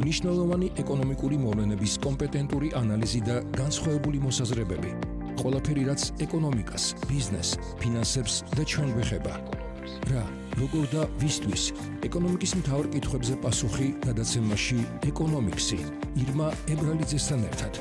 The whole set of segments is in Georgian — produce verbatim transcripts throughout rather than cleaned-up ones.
მნიშვნელოვანი ეკონომიკური მოვლენების კომპეტენტური ანალიზი და განსხვავებული მოსაზრებები. ყველაფერი, რაც ეკონომიკას, ბიზნეს, ფინანსებს და ჩვენ გვეხება. რა, როგორ და ვისთვის? ეკონომიკის მთავარ კითხვებზე პასუხი გადაცემაში ეკონომიქსი. ირმა ებრალიძესთან ერთად.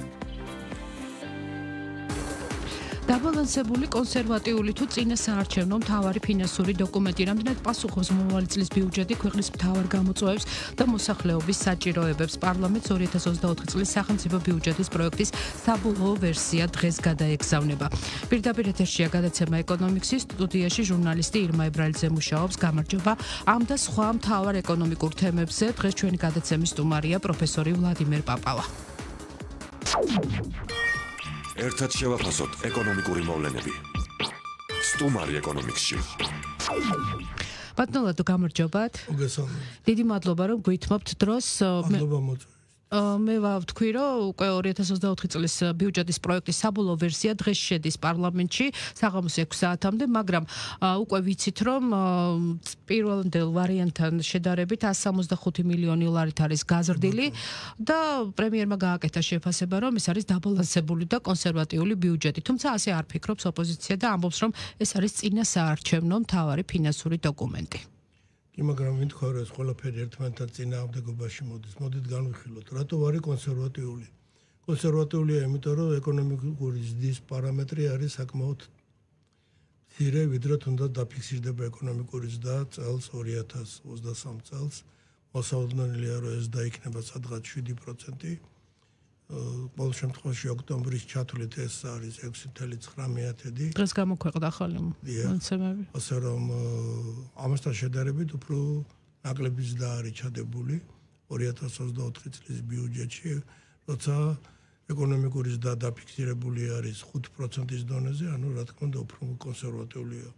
დაბალანსებული კონსერვატიული თუ წინა საარჩევნო მთავარი ფინანსური დოკუმენტი რამდენად პასუხობს მომავალი წლის ბიუჯეტი ქვეყნის მთავარ გამოწვევებს და მოსახლეობის საჭიროებებს. პარლამენტს ორი ათას ოცდაოთხი წლის სახელმწიფო ბიუჯეტის პროექტის საბოლოო ვერსია დღეს გადაეგზავნება. პირდაპირ ეთერშია გადაცემა ეკონომიქსის, სტუდიაში ჟურნალისტი ირმა ებრალიძე მუშაობს. გამარჯობა. ამ და სხვა მთავარ ეკონომიკურ თემებზე დღეს ჩვენი გადაცემის სტუმარია პროფესორი ვლადიმერ პაპავა. ერთად შევაფასოთ ეკონომიკური მოვლენები. სტუმარი ეკონომიქსში. ბატონო ლადო, გამარჯობათ. მოგესალმებით. დიდი მადლობა რომ გვითმობთ დროს. მადლობა მოწვევით. მე ვთქვი, რომ უკვე ორი ათას ოცდაოთხი წლის ბიუჯეტის პროექტის საბოლოო ვერსია დღეს შედის პარლამენტში საღამოს ექვსი საათამდე, მაგრამ უკვე ვიცით, რომ პირველ ვარიანტთან შედარებით εκατს სამოცდახუთი მილიონი ლარით არის გაზრდილი და პრემიერმა გააკეთა შეფასება, რომ ეს არის დაბალანსებული და კონსერვატიული ბიუჯეტი. თუმცა ასე არ ფიქრობს ოპოზიცია და ამბობს, რომ ეს არის წინა საარჩევნო მთავარი ფინანსური დოკუმენტი. კი, მაგრამ ვინ თქვა, რომ ეს ყველაფერი ერთმანეთთან წინააღმდეგობაში მოდის. მოდით განვიხილოთ, რატო არის კონსერვატიული? კონსერვატიულია, იმიტომ რომ ეკონომიკური ზრდის პარამეტრი არის საკმაოდ მცირე, ვიდრე თუნდაც დაფიქსირდება ეკონომიკური ზრდა წელს ორი ათას ოცდასამ წელს. მოსაოდნელია, რომ ეს დაიქნება სადღაც შვიდი პროცენტი. ყოველ შემთხვევაში ოქტომბრის ჩათვლით ეს არის ექვსი წუთი ცხრა მეათედი. დღეს გამოქვეყნდა ახალი მონაცემები. ასე რომ ამასთან შედარებით უფრო ნაკლები ზრდა არის ჩადებული ორი ათას ოცდაოთხი წლის ბიუჯეტში, როცა ეკონომიკური ზრდა დაფიქსირებული არის ხუთი პროცენტის დონეზე, ანუ რა თქმა უნდა უფრო კონსერვატიულია.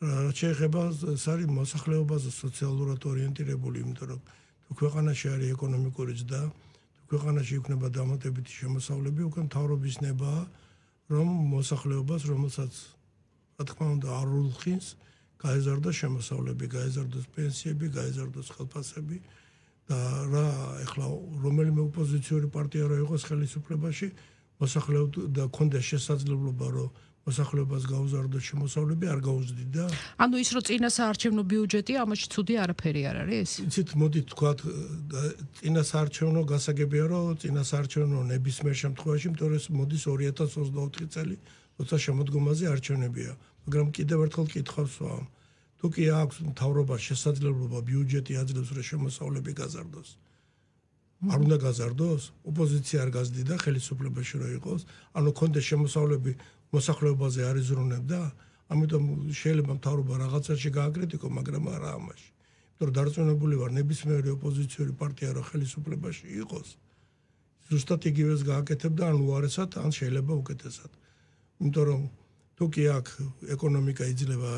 რაც შეეხება ეს არის მოსახლეობაზე სოციალურად ორიენტირებული, იმიტომ რომ თუ ქვეყანაში არის ეკონომიკური ზრდა, ქვეყანაში იქნება დამატებითი შემოსავლები, უკვე მთავრობის ნებაა, რომ მოსახლეობას, რომელსაც რა თქმა უნდა არ ულხინს, გაეზარდოს შემოსავლები, გაეზარდოს პენსიები, გაეზარდოს ხელფასები და რა ეხლა რომელიმე ოპოზიციური პარტია რო იყოს ხელისუფლებაში, მოსახლეობა და ქონდეს შესაძლებლობა, რომ მოსახლეობას გაუზარდოს შემოსავლები, არ გაუზრდიდა. ანუ ის რომ წინა საარჩევნო ბიუჯეტი, ამაში ცუდი არაფერი არ არის? იცით, მოდით თქვათ, წინა საარჩევნო გასაგებია, რომ წინა საარჩევნო ნებისმიერ შემთხვევაში, იმიტომ რომ მოდის ორი ათას ოცდაოთხი წელი, როცა შემოდგომაზე არჩევნებია. მაგრამ კიდევ ერთხელ კითხავს ვამ, თუ კი აქვს მთავრობას შესაძლებლობა ბიუჯეტი აძლევს, რომ შემოსავლები გაზარდოს. არ უნდა გაზარდოს? ოპოზიცია არ გაზრდიდა ხელისუფლებაში რო იყოს, ანუ კონდეს შემოსავლები მოსახლეობაზე არ იზრუნებდა, ამიტომ შეიძლება მთავრობა რაღაცაში გააკრიტიკო, მაგრამ არა ამაში. იმიტომ რომ დარწმუნებული ვარ, ნებისმიერი ოპოზიციური პარტია რო ხელისუფლებაში იყოს, ზუსტად იგივეს გააკეთებდა, ან უარესად, ან შეიძლება უკეთესად. იმიტომ რომ თუ კი აქ ეკონომიკა იძლევა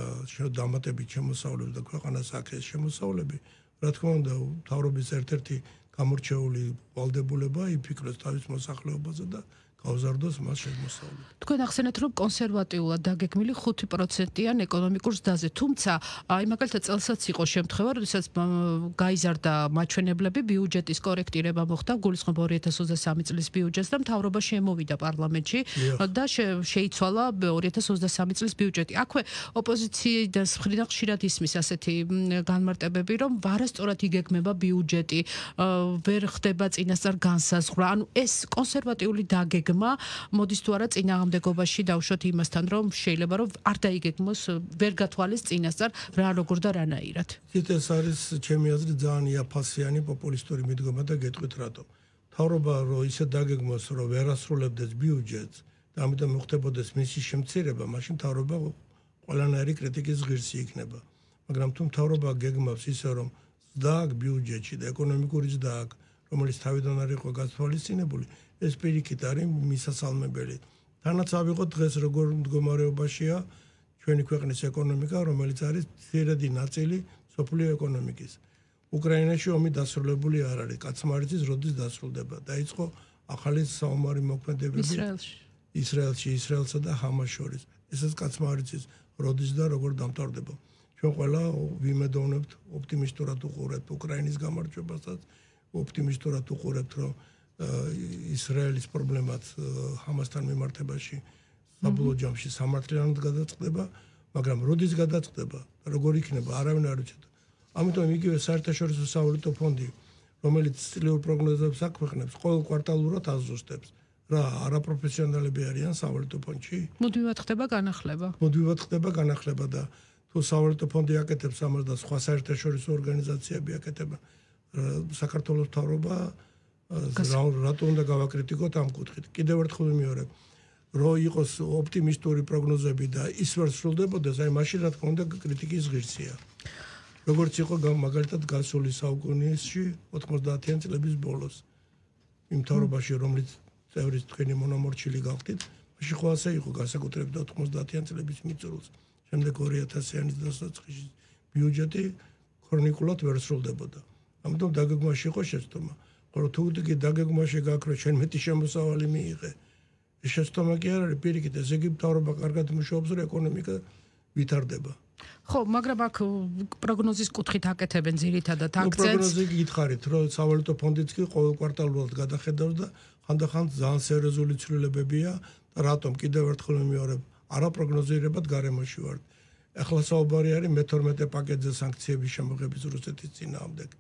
დამატებით შემოსავლებს და ქვეყანას აქეს შემოსავლები, რა თქმა უნდა, მთავრობის ერთ-ერთი გამორჩეული ვალდებულება იფიქროს თავის მოსახლეობაზე და გაუზარდოს მას შემოსავლები. თქვენ ახსენეთ, რომ კონსერვატიულად დაგეგმილი ხუთი პროცენტიან ეკონომიკურ ზრდაზე, თუმცა აი მაგალითად წელსაც იყო შემთხვევა, როდესაც გაიზარდა მაჩვენებლები, ბიუჯეტის კორექტირება მოხდა, გულისხმობა ორი ათას ოცდასამი წლის ბიუჯეტს და მთავრობა შემოვიდა პარლამენტში და შეიცვალა ორი ათას ოცდასამი წლის ბიუჯეტი. აქვე ოპოზიციის მხრიდან ხშირად ისმის ასეთი განმარტებები, რომ ვარასწორად იგეგმება ბიუჯეტი, ვერ ხდება წინასწარ განსაზღვრა. ანუ ეს კონსერვატიული დაგეგმა მოდის თუ არა წინააღმდეგობაში დავუშვათ იმასთან, რომ შეიძლება რომ არ დაიგეგმოს, ვერ გათვალეს წინასწარ რა როგორ და რანაირად. ეს არის ჩემი აზრით ძალიან იაფასიანი პოპულისტური მიდგომა და გეტყვით რატო. მთავრობა რო ისე დაგეგმოს, რომ ვერ ასრულებდეს ბიუჯეტს და ამიტომ მოხდებოდეს მისი შემცირება, მაშინ მთავრობა ყველანაირი კრიტიკის ღირსი იქნება. მაგრამ თუ მთავრობა გეგმავს ისე, რომ ზრდა აქვს ბიუჯეტში და ეკონომიკური ზრდა აქვს, რომელიც თავიდან არ იყო გათვალისწინებული, ეს პირიქით არის მისასალმებელი. თანაც ავიღოთ დღეს როგორ მდგომარეობაშია ჩვენი ქვეყნის ეკონომიკა, რომელიც არის ძირედი ნაწილი სოფლიო ეკონომიკის. უკრაინაში ომი დასრულებული არ არის, კაცმა არ იცის როდის დასრულდება. დაიწყო ახალი საომარი მოქმედებები ისრაელში. ისრაელში, ისრაელსა და ჰამას შორის. ესაც კაცმა არ იცის როდის და როგორ დამთავრდება. ჩვენ ყველა ვიმედოვნებთ, ოპტიმისტურად უყურებთ უკრაინის გამარჯვებასაც, ოპტიმისტურად უყურებთ, რომ ისრაელის პრობლემაც ჰამასთან მიმართებაში საბოლოო ჯამში სამართლიანად გადაწყდება, მაგრამ როდის გადაწყდება და როგორ იქნება, არავინ არ იცოდა. ამიტომ იგივე საერთაშორისო სავალუტო ფონდი, რომელიც წლიურ პროგნოზებს აქვეყნებს, ყოველ კვარტალურად აზუსტებს. რა არაპროფესიონალები არიან სავალუტო ფონდში? მუდმივად ხდება განახლება. მუდმივად ხდება განახლება და თუ სავალუტო ფონდი აკეთებს ამას და სხვა საერთაშორისო ორგანიზაციები აკეთებენ, საქართველოს მთავრობა რატო უნდა გავაკრიტიკოთ ამ კუთხით? კიდევ ერთხელ ვიმეორებ, რომ იყოს ოპტიმისტური პროგნოზები და ის ვერ სრულდებოდეს, აი მაშინ რა თქმა უნდა კრიტიკის ღირსია. როგორც იყო მაგალითად გასული საუკუნეში ოთხმოცდაათიან წლების ბოლოს იმ მთავრობაში, რომელიც წევრის თქვენი მონამორჩილი გახდით, მაშინ ხო ასე იყო განსაკუთრებით ოთხმოცდაათიან წლების მიწურულს. შემდეგ ორი ათასიანის დასაწყისში ბიუჯეტი ქრონიკულად ვერ სრულდებოდა. ამიტომ დაგეგმვაში იყო შეცდომა. ხოლო თუ კი დაგეგმვაში გაქვს, რომ შენ მეტი შემოსავალი მიიღე, ეს შეცდომა კი არ არის, პირიქით, ესე იგი მთავრობა კარგად მუშაობს, რომ ეკონომიკა ვითარდება. ხო, მაგრამ აქ პროგნოზის კუთხით აკეთებენ ძირითადად აქცენტს. პროგნოზი გითხარით, რომ სავალუტო ფონდიც კი ყოველ კვარტალურად გადახედავს და ხანდახან ძალიან სერიოზული ცვლილებებია და რატომ კიდევ ერთხელ ვიმეორებ, არაპროგნოზირებად გარემოში ვართ. ახლა საუბარი არის მეთორმეტე პაკეტზე სანქციების შემოღების რუსეთის წინააღმდეგ.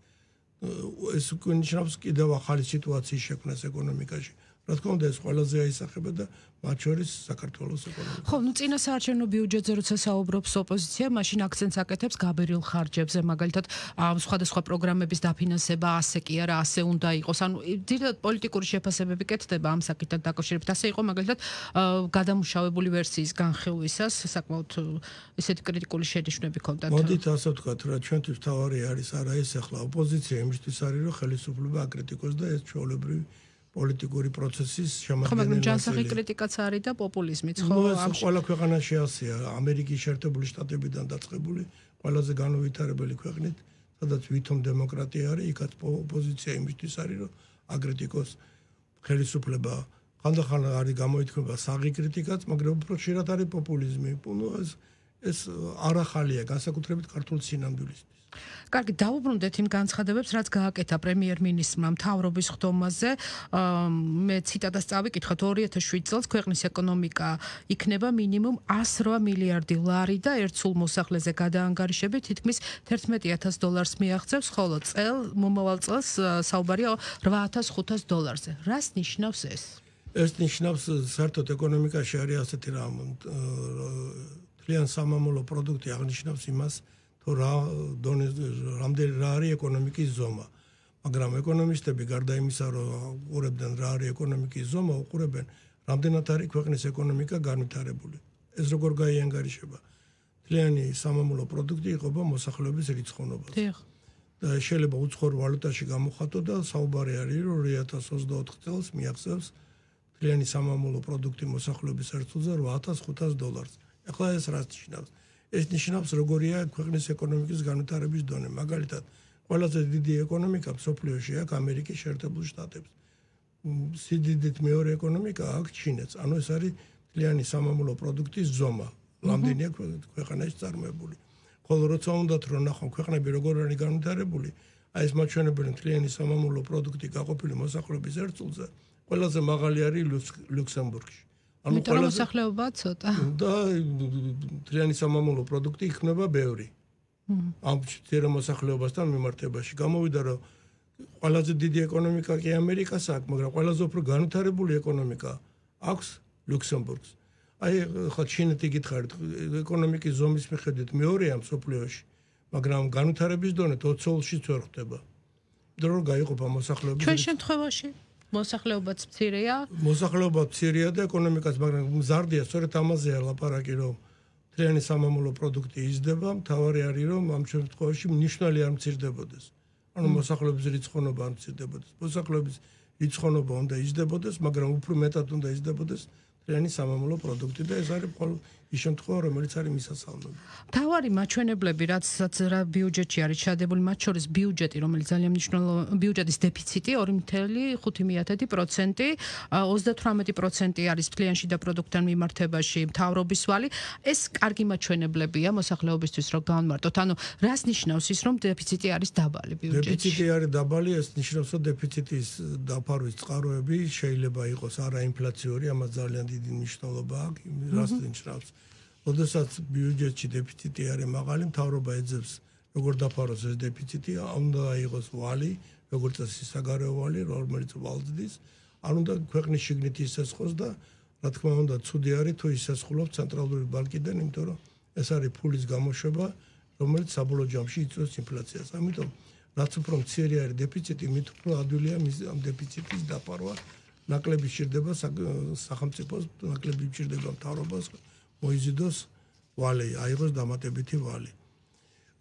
ეს გვინიშნავს კიდევ ახალი სიტუაციის შექმნას ეკონომიკაში. რა თქმა უნდა ეს ყველაზე აისახება და მათ შორის საქართველოს ეკონომიკა. ხო, ნუ წინასაარჩევნო ბიუჯეტზე როცა საუბრობს ოპოზიცია, მაშინ აქცენტს აკეთებს გაბერილ ხარჯებზე, მაგალითად, სხვადასხვა პროგრამების დაფინანსება ასე კი არა, ასე უნდა იყოს. ანუ ძირითადად პოლიტიკური შეფასებები კეთდება ამ საკითხთან დაკავშირებით. ასე იყო მაგალითად გადამუშავებული ვერსიის განხილვისას საკმაოდ ესეთი კრიტიკული შენიშვნები ჰქონდათ. მოდით ასე ვთქვათ, რა ჩვენთვის თავარი არის არა ეს ახლა ოპოზიცია იმისთვის არის, რომ ხელისუფლება აკრიტიკოს და ეს ჩვეულებრივი პოლიტიკური პროცესის შემადგენელი. ხო, მაგრამ ჯანსაღი კრიტიკაც არის და პოპულიზმიც, ხო? ამ ყველა ქვეყანაში ასეა, ამერიკის შეერთებული შტატებიდან დაწყებული, ყველაზე განუვითარებელი ქვეყნით, სადაც ვითომ დემოკრატია არის, იქაც ოპოზიცია იმისთვის არის, რომ აკრიტიკოს ხელისუფლება. ხანდახან არის გამოითქმება საღი კრიტიკაც, მაგრამ უფრო ხშირად არის პოპულიზმი. ნუ ეს ეს არ ახალია, განსაკუთრებით ქართულ სინამდვილისთვის. კარგი, დავუბრუნდეთ იმ განცხადებებს, რაც გააკეთა პრემიერ-მინისტრმა მთავრობის ხდომაზე. მე ციტატას წავიკითხოთ, ორი ათას შვიდ წელს ქვეყნის ეკონომიკა იქნება მინიმუმ ასი რვა მილიარდი ლარი და ერთ სულ მოსახლეზე გადაანგარიშებით თითქმის თერთმეტი ათას დოლარს მიაღწევს, ხოლო წელ მომავალ წელს საუბარია რვა ათას ხუთას დოლარზე. რას ნიშნავს ეს? ეს ნიშნავს საერთოდ ეკონომიკაში არის ასეთი რამ თლიან სამამულო პროდუქტი აღნიშნავს იმას, თუ რა დონე რამდენი რა არის ეკონომიკის ზომა. მაგრამ ეკონომისტები გარდა იმისა, რომ უყურებდნენ რა არის ეკონომიკის ზომა, უყურებენ რამდენად არის ქვეყნის ეკონომიკა განვითარებული. ეს როგორ გაიანგარიშება? თლიანი სამამულო პროდუქტი იყოფა მოსახლეობის რიცხოვნობას. და შეიძლება უცხოურ ვალუტაში გამოხატო და საუბარი არის, რომ ორი ათას ოცდაოთხ წელს მიაღწევს თლიანი სამამულო პროდუქტი მოსახლეობის ერთულზე რვა ათას ხუთას დოლარს. ახლა ეს რას ნიშნავს? ეს ნიშნავს როგორია ქვეყნის ეკონომიკის განვითარების დონე. მაგალითად, ყველაზე დიდი ეკონომიკა მსოფლიოში აქვს ამერიკის შეერთებულ შტატებს. სიდიდით მეორე ეკონომიკა აქვს ჩინეთს. ანუ ეს არის თლიანი სამამულო პროდუქტის ზომა. რამდენია ქვეყანაში წარმოებული. ხოლო როცა უნდათ რომ ნახონ ქვეყნები როგორ არის განვითარებული, აი ეს მაჩვენებელი თლიანი სამამულო პროდუქტი გაყოფილი მოსახლეობის ერთულზე, ყველაზე მაღალი არის ლუქსემბურგში. ანუ ყველა მოსახლეობა ცოტა. და თლიანი სამამულო პროდუქტი იქნება ბევრი. ამ ციერ მოსახლეობასთან მიმართებაში. გამოვიდა რომ ყველაზე დიდი ეკონომიკა კი ამერიკას აქვს, მაგრამ ყველაზე უფრო განვითარებული ეკონომიკა აქვს ლუქსემბურგს. აი ხო ჩინეთი გითხარით, ეკონომიკის ზომის მიხედვით მეორეა მსოფლიოში, მაგრამ განვითარების დონე ოცდაოთხშიც ვერ ხდება. დრო გაიყოფა მოსახლეობის. ჩვენ შემთხვევაში მოსახლეობაც მცირეა. მოსახლეობა მცირეა და ეკონომიკაც, მაგრამ მზარდია, სწორედ ამაზეა ლაპარაკი, რომ თლიანი სამამულო პროდუქტი იზრდება, მთავარი არის, რომ ამ შემთხვევაში მნიშვნელი არ მცირდებოდეს. ანუ მოსახლეობის რიცხოვნობა არ მცირდებოდეს. მოსახლეობის რიცხოვნობა უნდა იზრდებოდეს, მაგრამ უფრო მეტად უნდა იზრდებოდეს თლიანი სამამულო პროდუქტი და ეს არის ის შემთხვევა, რომელიც არის მისასალმები. თავარი მაჩვენებლები, რაცაც რა ბიუჯეტში არის ჩადებული, მათ შორის ბიუჯეტი, რომელიც ძალიან მნიშვნელოვანი, ბიუჯეტის დეფიციტი ორი წუთი ხუთი პროცენტი, ოცდათვრამეტი პროცენტი არის მთლიან შიდა პროდუქტთან მიმართებაში მთავრობის ვალი. ეს კარგი მაჩვენებლებია მოსახლეობისთვის, რომ განმარტოთ. ანუ რას ნიშნავს ის, რომ დეფიციტი არის დაბალი ბიუჯეტში? დეფიციტი არის დაბალი, ეს ნიშნავს, რომ დეფიციტის დაფარვის წყაროები შეიძლება იყოს არაინფლაციური, ამას ძალიან დიდი მნიშვნელობა აქვს, რას ნიშნავს. როდესაც ბიუჯეტში დეფიციტი არის მაღალი, მთავრობა ეძებს როგორ დაფაროს ეს დეფიციტი, უნდა იყოს ვალი, როგორც წესი საგარეო ვალი, რომელიც ვალდდის, არ უნდა ქვეყნის შიგნით ისესხოს და რა თქმა უნდა, ცუდი არის თუ ისესხულობს ცენტრალური ბანკიდან, იმიტომ რომ ეს არის ფულის გამოშვება, რომელიც საბოლოო ჯამში იწვევს ინფლაციას. ამიტომ რაც უფრო მცირე არის დეფიციტი, მით უფრო ადვილია მის ამ დეფიციტის დაფარვა. ნაკლები სჭირდება სახელმწიფოს, ნაკლები სჭირდება მთავრობას მოიზიდოს ვალი, აიღოს დამატებითი ვალი.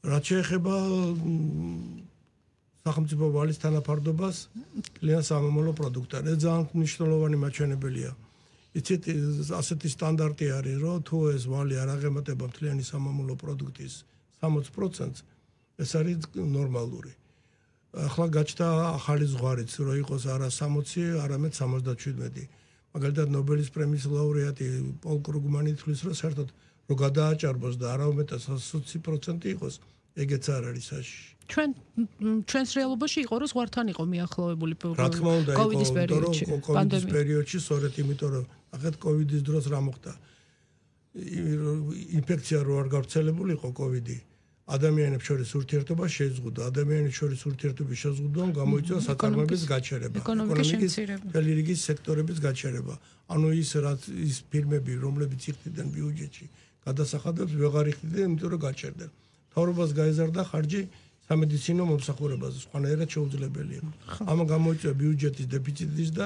რაც შეეხება სახელმწიფო ვალის თანაფარდობას კლიენტ სამომავლო პროდუქტთან, ეს ძალიან მნიშვნელოვანი მაჩვენებელია. იცით, ასეთი სტანდარტი არის, რომ თუ ეს ვალი არ აღემატება მთლიანი სამომავლო პროდუქტის სამოცი პროცენტს, ეს არის ნორმალური. ახლა გაჩნდა ახალი ზღვარიც, რომ იყოს არა სამოცი, არამედ სამოცდაშვიდმეტი. მაგალითად ნობელის პრემიის ლაურეატი პოლ კრუგმანი თვლის, რომ საერთოდ რომ გადააჭარბოს და არა უმეტეს ოცი პროცენტი იყოს, ეგეც არ არის საშიში. ჩვენ ჩვენს რეალობაში იყო რომ ზღვართან იყო მიახლოვებული რა თქმა უნდა, კოვიდის პერიოდში, კოვიდის პერიოდში, სწორედ იმიტომ რომ ახეთ კოვიდის დროს რა მოხდა? ინფექცია რო არ გავრცელებულიყო კოვიდი, ადამიანებს შორის ურთიერთობა შეზღუდა, ადამიანებს შორის ურთიერთობის შეზღუდვამ გამოიწვია საწარმოების გაჩერება, ეკონომიკის მთელი რიგი სექტორების გაჩერება. ანუ ის რაც ის ფირმები, რომლებიც იხდიდნენ ბიუჯეტში, გადასახადებს ვეღარ იხდიდნენ, იმიტომ რომ გაჩერდნენ. მთავრობას გაეზარდა ხარჯი სამედიცინო მომსახურებაზე, სხვანაირად შეუძლებელია. ამან გამოიწვია ბიუჯეტის დეფიციტის და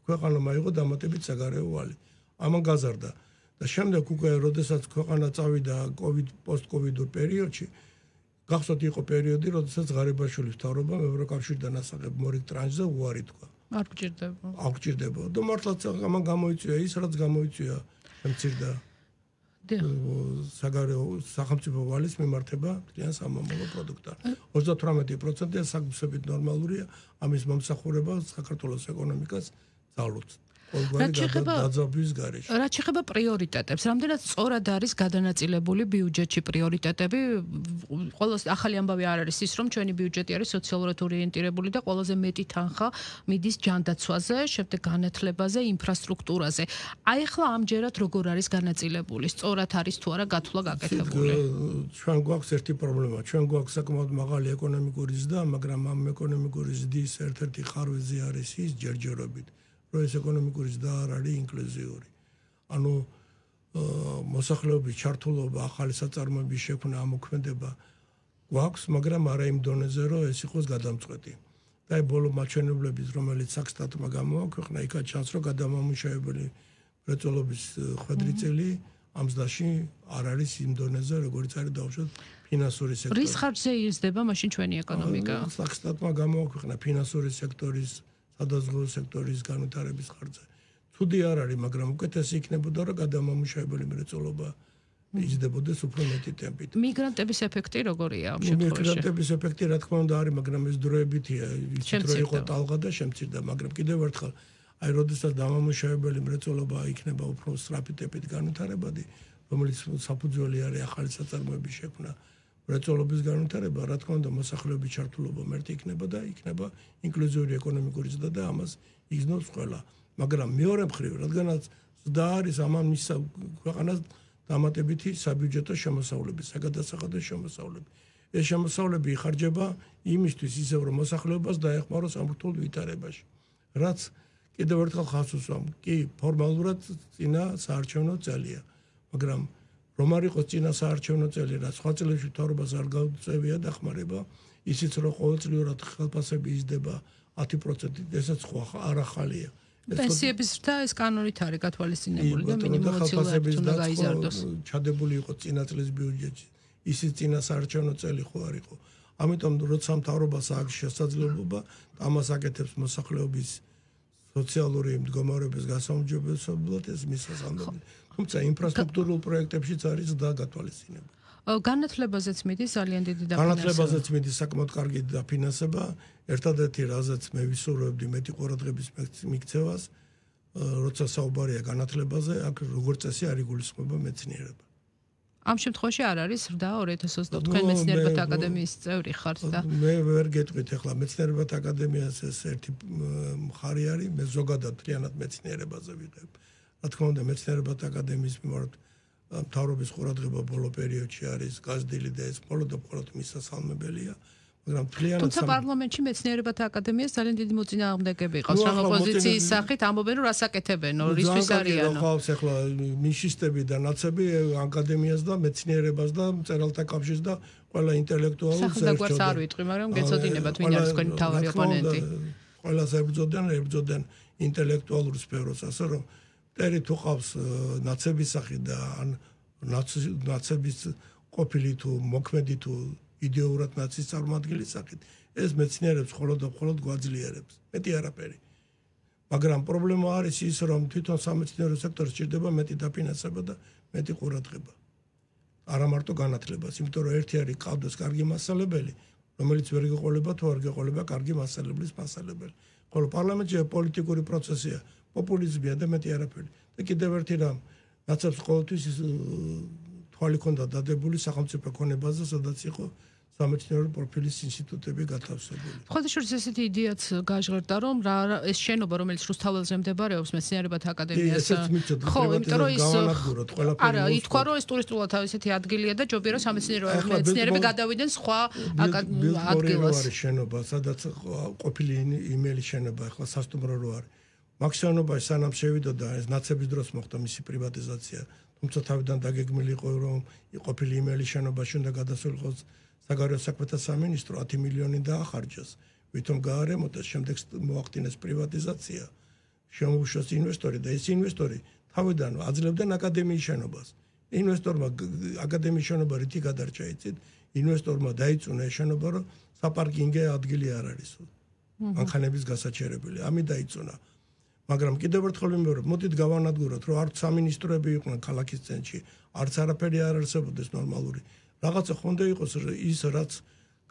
ქვეყანამ აიღო დამატებით საგარეო ვალი. ამან გაზარდა და შემდეგ უკვე როდესაც ქვეყანა წავიდა კოვიდ პოსტკოვიდურ პერიოდში, გახსოვთ იყო პერიოდი, როდესაც ღარიბაშვილის მთავრობამ ევროკავშირთან ასაღებ მორიგ ტრანზიტზე უარი თქვა. არ გჭირდება. არ გჭირდება. და მართლაც ამან გამოიწვია ის, რაც გამოიწვია მცირდა საგარეო სახელმწიფო ვალის მიმართება მთლიან სამომავლო პროდუქტთან. ოცდათვრამეტი პროცენტი საკმაოდ ნორმალურია, ამის მომსახურება საქართველოს ეკონომიკას ძალუძს. რაც შეეხება დაძაბვის გარეშე. რაც შეეხება პრიორიტეტებს, რამდენად სწორად არის გადანაწილებული ბიუჯეტში პრიორიტეტები? ყოველს ახალი ამბავი არ არის ის, რომ ჩვენი ბიუჯეტი არის სოციალურად ორიენტირებული და ყველაზე მეტი თანხა მიდის ჯანდაცვაზე, შემდეგ განათლებაზე, ინფრასტრუქტურაზე. აი ახლა ამჯერად როგორ არის განაწილებული? სწორად არის თუ არა გათვლა გაკეთებული? ჩვენ გვაქვს ერთი პრობლემა. ჩვენ გვაქვს საკმაოდ მაღალი ეკონომიკური ზრდა, მაგრამ ამ ეკონომიკური ზრდის ერთ-ერთი ხარვეზი არის ის ჯერჯერობით. რომ ეს ეკონომიკური ზრდა არ არის ინკლუზიური. ანუ მოსახლეობის ჩართულობა, ახალი საწარმოების შექმნა, ამოქმედება გვაქვს, მაგრამ არა იმ დონეზე, რომ ეს იყოს გადამწყვეტი. და აი ბოლო მაჩვენებლების, რომელიც საქსტატმა გამოაქვეყნა, იქაც ჩანს, რომ გადამამუშავებელი მრეწველობის ხვედრი წელი ამ ზრდაში არ არის იმ დონეზე, როგორც არის დავუშვათ ფინანსური სექტორი. რის ხარჯზე იზრდება მაშინ ჩვენი ეკონომიკა? საქსტატმა გამოაქვეყნა ფინანსური სექტორის სადაზღვევო სექტორის განვითარების ხარჯზე. ცუდი არ არის, მაგრამ უკეთესი იქნებოდა, რომ გადამამუშავებელი მრეწველობა იზრდებოდეს უფრო მეტი ტემპით. მიგრანტების ეფექტი როგორია ამ შემთხვევაში? მიგრანტების ეფექტი რა თქმა უნდა არის, მაგრამ ეს დროებითია, იცით რომ იყო ტალღა და შემცირდა, მაგრამ კიდევ ერთხელ, აი როდესაც დამამუშავებელი მრეწველობა იქნება უფრო სწრაფი ტემპით განვითარებადი, რომელიც საფუძველი არის ახალი საწარმოების შექმნა. მრეწველობის განვითარება, რა თქმა უნდა, მოსახლეობის ჩართულობა მერტი იქნება და იქნება ინკლუზიური ეკონომიკური ზრდა და ამას იგრძნობს ყველა. მაგრამ მეორე მხრივ, რადგანაც ზრდა არის, ამან მისცა ქვეყანას დამატებითი საბიუჯეტო შემოსავლები, საგადასახადო შემოსავლები. ეს შემოსავლები იხარჯება იმისთვის ისევ, რომ მოსახლეობას დაეხმაროს ამ რთულ ვითარებაში. რაც კიდევ ერთხელ ხაზს უსვამ, კი, ფორმალურად წინა საარჩევნო წელია, მაგრამ რომ არ იყოს წინა საარჩევნო წელი, რაც სხვა წლებში მთავრობას არ გაუწევია დახმარება, ისიც რომ ყოველწლიურად ხელფასები იზრდება ათი პროცენტით, ესაც სხვა არ ახალია. პენსიების ზრდა ეს კანონით არის გათვალისწინებული და მინიმუმი უნდა გაიზარდოს. ჩადებული იყო წინა წლის ბიუჯეტში, ისიც წინა საარჩევნო წელი ხო არ იყო. ამიტომ როცა მთავრობას აქვს შესაძლებლობა, ამას აკეთებს მოსახლეობის სოციალური მდგომარეობის გასაუმჯობესებლად ეს მისასალმები. თუმცა ინფრასტრუქტურულ პროექტებშიც არის და გათვალისწინება. განათლებაზეც მიდის ძალიან დიდი დაფინანსება. განათლებაზეც მიდის საკმაოდ კარგი დაფინანსება. ერთადერთი რაზეც მე ვისურვებდი მეტი ყურადღების მიქცევას, როცა საუბარია განათლებაზე, აქ როგორც წესი არ იგულისხმება მეცნიერება. ამ შემთხვევაში არ არის ზრდა ორი ათას ოცდაოთხ თქვენ მეცნიერებათა აკადემიის წევრი ხართ და მე ვერ გეტყვით ახლა მეცნიერებათა აკადემიას ეს ერთი მხარი არის, მე ზოგადად მთლიანად მეცნიერებაზე ვიღებ. რა თქმა უნდა მეცნიერებათა აკადემიის მიმართ მთავრობის ყურადღება ბოლო პერიოდში არის გაზრდილი და ეს მხოლოდ და მხოლოდ მისასალმებელია. მაგრამ მთლიანად თუმცა პარლამენტში მეცნიერებათა აკადემიას ძალიან დიდი მოწინააღმდეგები ყავს რა ოპოზიციის სახით ამბობენ რომ რას აკეთებენო რისთვის არიანო ყავს ახლა ნიშისტები და ნაცები აკადემიას და მეცნიერებას და მწერალთა კავშირს და ყველა ინტელექტუალს საერთოდ არ ვიტყვი მაგრამ გეცოდინებათ ვინ არის თქვენი მთავარი ოპონენტი ყველას ებრძოდენ ებრძოდენ ინტელექტუალურ სფეროს ასე რომ ტერი თუ ყავს ნაცების სახით და ან ნაცების ყოფილი თუ მოქმედი თუ იდეურად ნაცის წარმომადგენლის სახით ეს მეცნიერებს მხოლოდ და მხოლოდ გვაძლიერებს მეტი არაფერი მაგრამ პრობლემა არის ის რომ თვითონ სამეცნიერო სექტორს სჭირდება მეტი დაფინანსება და მეტი ყურადღება არა მარტო განათლებას იმიტომ რომ ერთი არის ყავდეს კარგი მასწავლებელი რომელიც ვერ გეყოლება თუ არ გეყოლება კარგი მასწავლებლის მასწავლებელი ხოლო პარლამენტში პოლიტიკური პროცესია პოპულიზმია და მეტი არაფერი და კიდევ ერთი რამ ნაცებს ყოველთვის თვალი ქონდა დადებული სახელმწიფო ქონებაზე სადაც იყო სამეცნიერო პროფილის ინსტიტუტები გათავსებული. ხოდაშორის ესეთი იდეაც გაჟღერდა რომ რა ეს შენობა რომელიც რუსთაველზე მდებარეობს მეცნიერებათა აკადემიას ხო, იმიტომ რომ ის არა, ითქვა რომ ეს ტურისტულად ესეთი ადგილია და ჯობია რომ სამეცნიერო მეცნიერები გადავიდნენ სხვა ადგილას. არის შენობა, სადაც ყოფილი იმელი შენობა, ახლა სასტუმრო რო არის. მაგ შენობაში სანამ შევიდოდა ეს ნაცების დროს მოხდა მისი პრივატიზაცია. თუმცა თავიდან დაგეგმილი იყო რომ ყოფილი იმელი შენობაში უნდა გადასულიყოს საგარეო საქმეთა სამინისტრო ათი მილიონი დაახარჯეს. ვითომ გაარემონტეს, შემდეგ მოახდინეს პრივატიზაცია. შემოუშვეს ინვესტორი და ეს ინვესტორი თავიდან აძლევდნენ აკადემიის შენობას. ინვესტორმა აკადემიის შენობა რითი გადარჩა იცით? ინვესტორმა დაიწუნა ეს შენობა, რომ საპარკინგე ადგილი არ არის. მანქანების გასაჩერებელი. ამით დაიწუნა. მაგრამ კიდევ ერთხელ ვიმეორებ, მოდით გავანადგუროთ, რომ არც სამინისტროები იყვნენ ქალაქის ცენტრში, არც არაფერი არ არსებობდეს ნორმალური. რაღაცა ხონდა იყოს ის რაც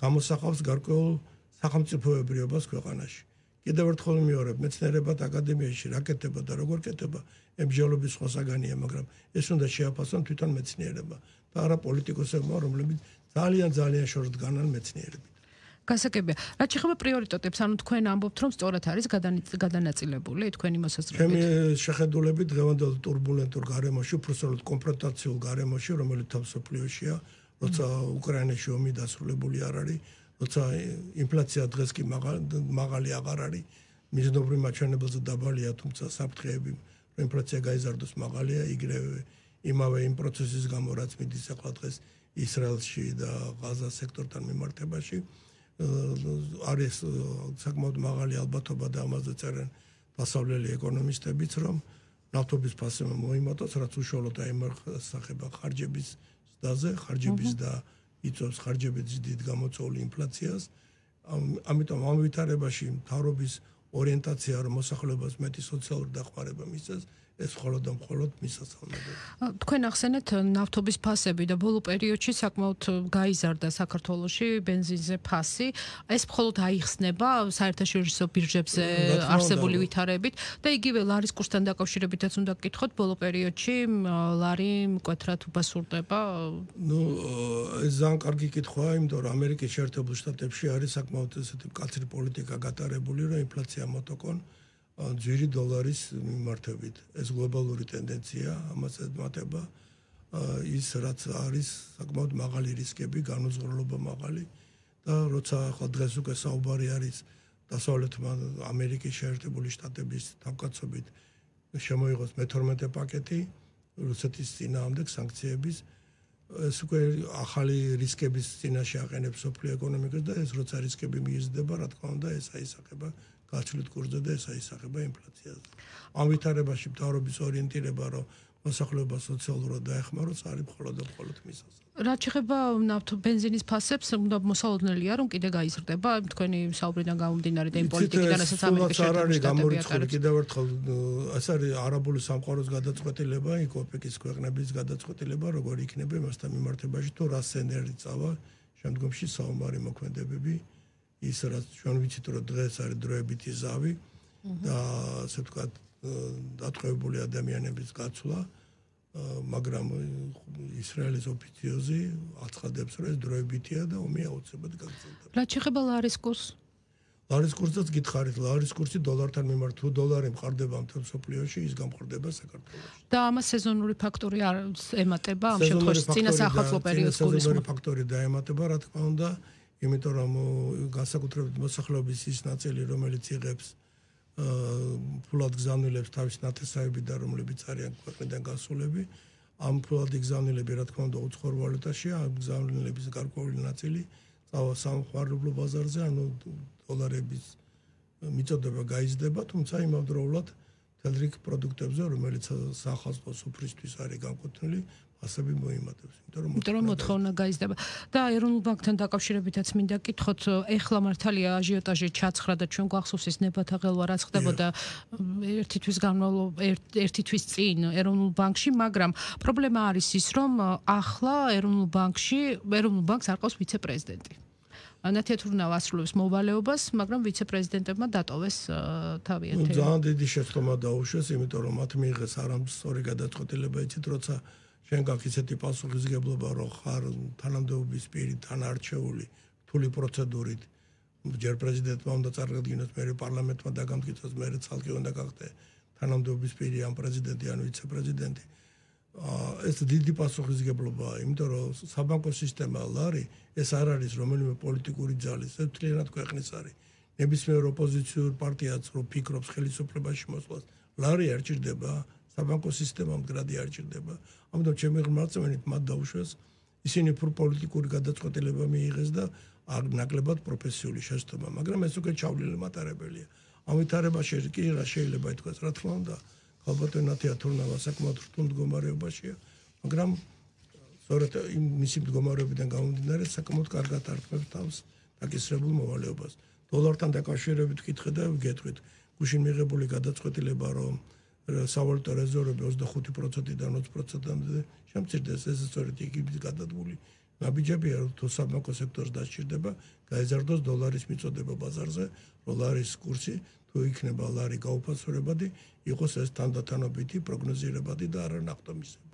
გამოსახავს გარკვეულ სახელმწიფოებრიობას ქვეყანაში. კიდევ ერთხელ ვიმეორებ, მეცნიერებათა აკადემიაში რა კეთება და როგორ კეთება, ემბჟოლობის სხვა საგანია, მაგრამ ეს უნდა შეაფასონ თვითონ მეცნიერება და არა პოლიტიკოსებმა, რომლებიც ძალიან ძალიან შორს დგანან მეცნიერებით. გასაგებია. რაც შეეხება პრიორიტეტებს, ანუ თქვენ ამბობთ, რომ სწორად არის გადანაწილებული თქვენი მოსაზრებით. ჩემი შეხედულებით დღევანდელ турბულენტურ გარემოში, უბრალოდ კონფრონტაციულ გარემოში, რომელიც თავსოფლიოშია, როცა უკრაინაში ომი დასრულებული არ არის, როცა ინფლაცია დღეს კი მაღალი აღარ არის, მიზნობრივ მაჩვენებელზე დაბალია, თუმცა საფრთხეები, რომ ინფლაცია გაიზარდოს მაღალია, იგივე იმავე იმ პროცესის გამო, რაც მიდის ახლა დღეს ისრაელში და ღაზას სექტორთან მიმართებაში. არის საკმაოდ მაღალი ალბათობა და ამაზე წერენ დასავლელი ეკონომისტებიც, რომ ნავთობის ფასება მოიმატოს, რაც უშუალოდ აიმარხება ხარჯების ზრდაზე, ხარჯების და იწვევს ხარჯების დიდ გამოწვეული ინფლაციას. ამიტომ ამ ვითარებაში მთავრობის ორიენტაცია რომ მოსახლეობას მეტი სოციალური დახმარება მისცეს, ეს მხოლოდ და მხოლოდ მისასალმებელია. თქვენ ახსენეთ ნავთობის ფასები და ბოლო პერიოდში საკმაოდ გაიზარდა საქართველოში ბენზინზე ფასი. ეს მხოლოდ აიხსნება საერთაშორისო ბირჟებზე არსებული ვითარებით და იგივე ლარის კურსთან დაკავშირებითაც უნდა გკითხოთ, ბოლო პერიოდში ლარი მკვეთრად უბასურდება. ნუ ეს ძალიან კარგი კითხვაა, იმიტომ რომ ამერიკის შეერთებულ შტატებში არის საკმაოდ ესეთი მკაცრი პოლიტიკა გატარებული, რომ ინფლაცია მოტოკონ ძვირი დოლარის მიმართებით. ეს გლობალური ტენდენცია, ამას ემატება ის რაც არის საკმაოდ მაღალი რისკები, განუზღურლობა მაღალი და როცა ახლა დღეს უკვე საუბარი არის დასავლეთ ამერიკის შეერთებული შტატების თავკაცობით შემოიღოს მეთორმეტე პაკეტი რუსეთის წინააღმდეგ სანქციების ეს უკვე ახალი რისკების წინაშე აყენებს სოფლიო ეკონომიკას და ეს როცა რისკები მიიზრდება, რა თქმა უნდა, ეს აისახება გაცვლით კურსზე და ესა ისახება ინფლაციაზე. ამ ვითარებაში მთავრობის ორიენტირება, რომ მოსახლეობა სოციალურად დაეხმაროს, არის მხოლოდ და მხოლოდ მისასა. რაც შეეხება ნავთო ბენზინის ფასებს, უნდა მოსალოდნელია, რომ კიდე გაიზრდება თქვენი საუბრიდან გამომდინარე და იმ პოლიტიკიდან, რასაც ამერიკის შეერთებული შტატები ატარებს. კიდევ ერთხელ ეს არის არაბული სამყაროს გადაწყვეტილება, იქ ოპეკის ქვეყნების გადაწყვეტილება, როგორ იქნება მასთან მიმართებაში თუ რა სცენარი წავა შემდგომში საომარი მოქმედებები, ის რაც ჩვენ ვიცით, რომ დღეს არის დროებითი ზავი და ასე ვთქვათ, დატყვევებული ადამიანების გაცვლა, მაგრამ ისრაელის ოფიციოზი აცხადებს, რომ ეს დროებითია და ომი აუცილებლად გაგრძელდება. რაც შეეხება ლარის კურსს? ლარის კურსსაც გითხარით, ლარის კურსი დოლართან მიმართ, თუ დოლარი მყარდება მთელ მსოფლიოში, ის გამყარდება საქართველოში. და ამას სეზონური ფაქტორი არ ემატება ამ შემთხვევაში წინა საახალწლო პერიოდს გულისხმობ. სეზონური ფაქტორი დაემატება, რა თქმა უნდა, იმიტომ რომ განსაკუთრებით მოსახლეობის ის ნაწილი, რომელიც იღებს ფულად გზავნილებს თავის ნათესავები და რომლებიც არიან ქვეყნიდან გასულები, ამ ფულად გზავნილები, რა თქმა უნდა, უცხოურ ვალუტაშია, ამ გზავნილების გარკვეული ნაწილი წავა სამხმარებლო ბაზარზე, ანუ დოლარების მიწოდება გაიზრდება, თუმცა იმავდროულად მთელ რიგ პროდუქტებზე, რომელიც საახალწლო სუფრისთვის არის განკუთვნილი, ასები მოიმატებს, იმიტომ რომ მოთხოვნა გაიზრდება. და ეროვნულ ბანკთან დაკავშირებითაც მინდა გითხოთ, ეხლა მართალია აჟიოტაჟი ჩაცხრა და ჩვენ გვახსოვს ის ნებათა ღელვა რაც ხდებოდა ერთი თვის განმავლობაში, ერთი თვის წინ ეროვნულ ბანკში, მაგრამ პრობლემა არის ის, რომ ახლა ეროვნულ ბანკში, ეროვნულ ბანკს არ ყავს ვიცე-პრეზიდენტი. ნათეთურნავ ასრულებს მოვალეობას, მაგრამ ვიცე-პრეზიდენტებმა დატოვეს თავიანთი. ძალიან დიდი შეცდომა დაუშვეს, იმიტომ რომ მათ მიიღეს არამსწორი გადაწყვეტილება, იცით, როცა შენ გაქვს ისეთი პასუხისმგებლობა, რომ ხარ თანამდებობის პირი, თანარჩეული, რთული პროცედურით, ჯერ პრეზიდენტმა უნდა წარდგინოს, მერე პარლამენტმა დაგამტკიცოს, მერე ცალკე უნდა გახდე თანამდებობის პირი, ან პრეზიდენტი, ან ვიცე-პრეზიდენტი. ეს დიდი პასუხისმგებლობაა, იმიტომ რომ საბანკო სისტემა ლარი ეს არ არის რომელიმე პოლიტიკური ძალის, ეს მთლიანად ქვეყნის არის. ნებისმიერ ოპოზიციურ პარტიაც რო ფიქრობს ხელისუფლებაში მოსვლას, ლარი არ ჭირდება, საბანკო სისტემა მდგრადი არ ჭირდება. ამიტომ ჩემი ღმერთმარწმენით მათ დაუშვეს, ისინი უფრო პოლიტიკური გადაწყვეტილება მიიღეს და ნაკლებად პროფესიული შეცდომა, მაგრამ ეს უკვე ჩავლილი მატარებელია. ამ ვითარებაში კი რა შეიძლება ითქვას, რა თქმა უნდა, ალბათონათია თურნავა საკმაოდ რთულ მდგომარეობაშია, მაგრამ სწორედ იმ მისი მდგომარეობიდან გამომდინარე საკმაოდ კარგად არტყმებს თავს დაკისრებულ მოვალეობას. დოლართან დაკავშირებით ვკითხე და ვგეთყვით, გუშინ მიღებული გადაწყვეტილება, რომ სავალუტო რეზერვები ოცდახუთი პროცენტიდან ოცი პროცენტამდე შემცირდეს, ეს სწორედ იქით გადადგმული ნაბიჯებია, რომ თუ საბანკო სექტორს დასჭირდება, გაეზარდოს დოლარის მიწოდება ბაზარზე, რომ ლარის კურსი თუ იქნება ლარი გაუფასურებადი, იყოს ეს თანდათანობითი, პროგნოზირებადი და არა ნახტომისებური.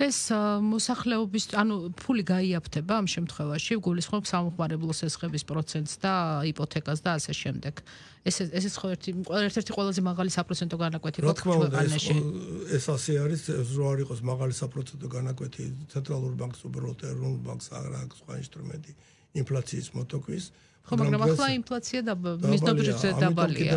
ეს მოსახლეობის, ანუ ფული გაიაფთება ამ შემთხვევაში, გულისხმობ სამხმარებლო სესხების პროცენტს და იპოთეკას და ასე შემდეგ. ეს ეს ხო ერთი ერთ-ერთი ყველაზე მაღალი საპროცენტო განაკვეთი გვაქვს ქვეყანაში. ეს ასე არის, რო არ იყოს მაღალი საპროცენტო განაკვეთი ცენტრალურ ბანკს, უბრალოდ ეროვნულ ბანკს არ აქვს სხვა ინსტრუმენტი ინფლაციის მოტოკვის. ხო, მაგრამ ახლა ინფლაცია და მიზნობრივზე დაბალია.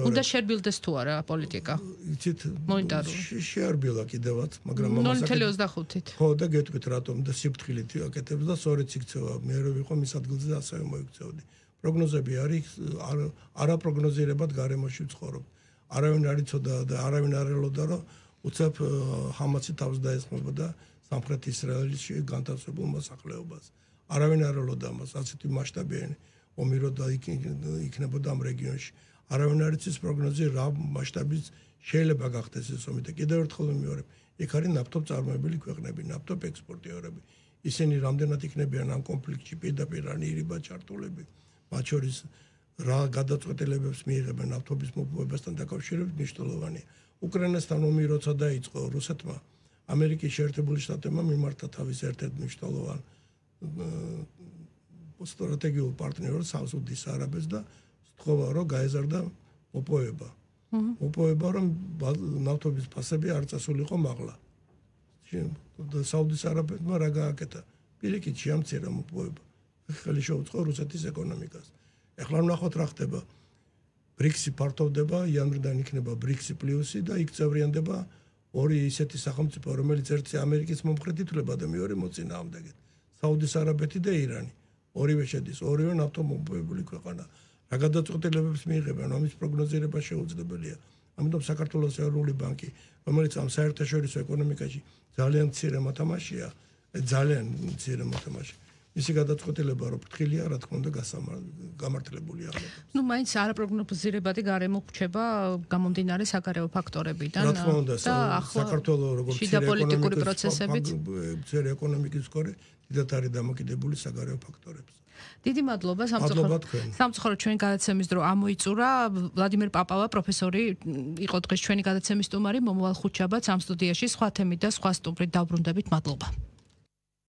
უნდა შერბილდეს თუ არა პოლიტიკა? იცით, მონეტარული. შეარბილა კიდევაც, მაგრამ ნული ოცდაოთხით. ხო, და გეტყვით რატომ და სიფრთხილით აკეთებს და სწორედ იქცევა. მე რო ვიყო მის ადგილზე ასევე მოიქცეოდი. პროგნოზები არის არაპროგნოზირებად გარემოში ვცხოვრობ. არავინ არ იცოდა და არავინ არ ელოდა, რომ უცებ ჰამასი თავს დაესხმებოდა სამხრეთ ისრაელში განთავსებულ მოსახლეობას. არავინ არ ელოდა ამას, ასეთი მასშტაბიანი ომი რო იქნებოდა ამ რეგიონში. არავინ არ იცის პროგნოზი რა მასშტაბის შეიძლება გახდეს ეს ომი და კიდევ ერთხელ ვიმეორებ, იქ არის ნავთობწარმოებელი ქვეყნები, ნავთობ ექსპორტიორები. ისინი რამდენად იქნებიან ამ კონფლიქტში პირდაპირ ან ირიბად ჩართულები. მათ შორის რა გადაწყვეტილებებს მიიღებენ ნავთობის მოპოვებასთან დაკავშირებით მნიშვნელოვანია. უკრაინასთან ომი როცა დაიწყო რუსეთმა, ამერიკის შეერთებული შტატებმა მიმართა თავის ერთ-ერთ მნიშვნელოვან სტრატეგიულ პარტნიორს საუდის არაბეთს და სთხოვა, რომ გაეზარდა მოპოვება. მოპოვება, რომ ნავთობის ფასები არ წასულიყო მაღლა. საუდის არაბეთმა რა გააკეთა? პირიქით შეამცირა მოპოვება. ხელი შეუწყო რუსეთის ეკონომიკას. ეხლა ვნახოთ რა ხდება. ბრიქსი ფართოვდება, იანვრიდან იქნება ბრიქსი პლუსი და იქ წევრიანდება ორი ისეთი სახელმწიფო, რომელიც ერთი ამერიკის მომხრედ ითვლება და მეორე მოწინააღმდეგეთ. საუდის არაბეთი და ირანი. ორივე შედის, ორივე ნავთობმოპოვებული ქვეყანა. რა გადაწყვეტილებებს მიიღებენ, ამის პროგნოზირება შეუძლებელია. ამიტომ საქართველოს ეროვნული ბანკი, რომელიც ამ საერთაშორისო ეკონომიკაში ძალიან მცირე მოთამაშეა, ძალიან მცირე მოთამაშე. მისი გადაწყვეტილება რო ფრთხილია, რა თქმა უნდა, გამართლებულია. ნუ მაინც არაპროგნოზირებადი გარემო ვრჩება გამომდინარე საგარეო ფაქტორებიდან. რა თქმა უნდა, საქართველოს როგორც შიდა პოლიტიკური პროცესებით, მცირე ეკონომიკის სკორი დიდად არის დამოკიდებული საგარეო ფაქტორებზე. დიდი მადლობა სამწუხაროდ. სამწუხაროდ ჩვენი გადაცემის დრო ამოიწურა. ვლადიმერ პაპავა პროფესორი იყო დღეს ჩვენი გადაცემის სტუმარი. მომავალ ხუთშაბათს ამ სტუდიაში სხვა თემით და სხვა სტუმრით დავბრუნდებით. მადლობა.